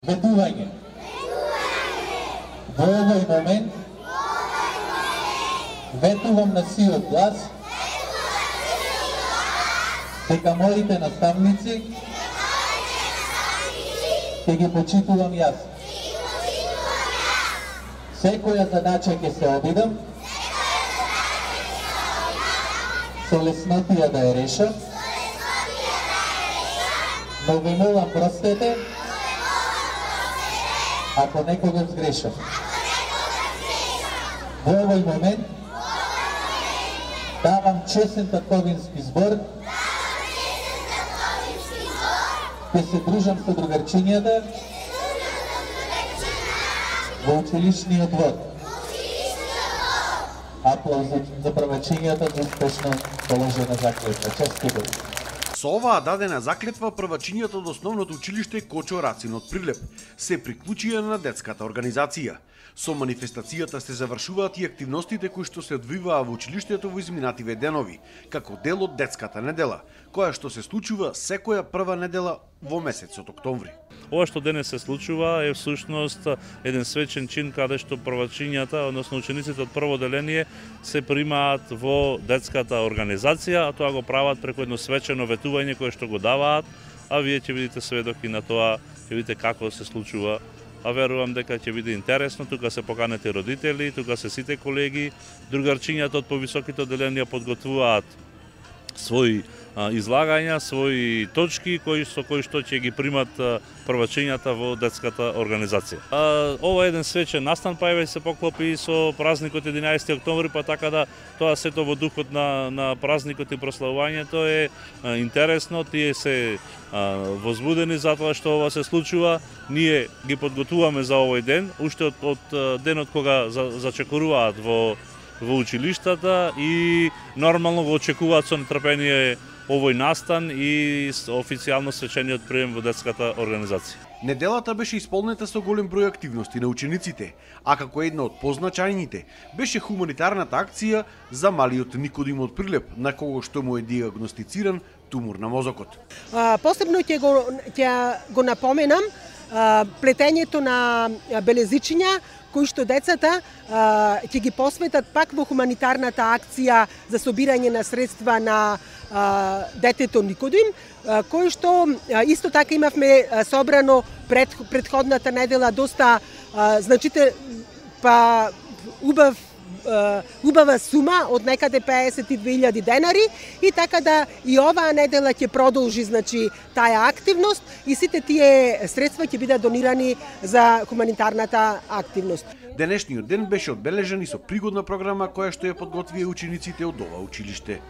Ветување. Во овој момент ветувам на сиот глас дека моите наставници ќе ги почитувам јас. Секоја задача ќе се обидам со леснотија да ја решам, но ви молам простете ако некогаш сгрешам. Во овој момент давам честен татковински збор, ќе се дружам со другарчињата во училишниот двор. Аплауз за првачињата за успешно положена заклетва. Честито. Со оваа дадена заклетва првачињата од основното училиште Кочо Рацин од Прилеп се приклучија на детската организација. Со манифестацијата се завршуваат и активностите кои што се одвиваа во училиштето во изминативе денови, како дел од детската недела, која што се случува секоја прва недела во месецот октомври. Ова што денес се случува е всушност еден свечен чин каде што првачињата, односно учениците од прво деление се примаат во детската организација, а тоа го прават преку едно свечено ветување кое што го даваат, а вие ќе видите сведоки на тоа, ќе видите како се случува. А верувам дека ќе биде интересно, тука се поканети родители, тука се сите колеги, другарчињата од повисоките одделенија подготвуваат своји излагања, своји точки со кои што ќе ги примат првачињата во детската организација. Ова е еден свечен настан, па еве се поклопи со празникот 11 октомври, па така да тоа сето во духот на празникот и прославувањето е интересно, тие се возбудени за тоа што ова се случува. Ние ги подготвуваме за овој ден, уште од денот кога зачекоруваат во училиштата и нормално го очекуваат со нетрпение овој настан и официјално свечениот прием во детската организација. Неделата беше исполнета со голем број активности на учениците, а како една од позначајните беше хуманитарната акција за малиот Никодим од Прилеп, на кого што му е диагностициран тумор на мозокот. Посебно ќе го напоменам плетењето на белезичиња кои што децата ќе ги посветат пак во хуманитарната акција за собирање на средства на детето Никодим, кој што исто така имавме собрано предходната недела доста убава сума од некаде 52.000 денари и така да и оваа недела ќе продолжи таа активност и сите тие средства ќе бидат донирани за хуманитарната активност. Денешниот ден беше одбележан и со пригодна програма која што ја подготвија учениците од ова училиште.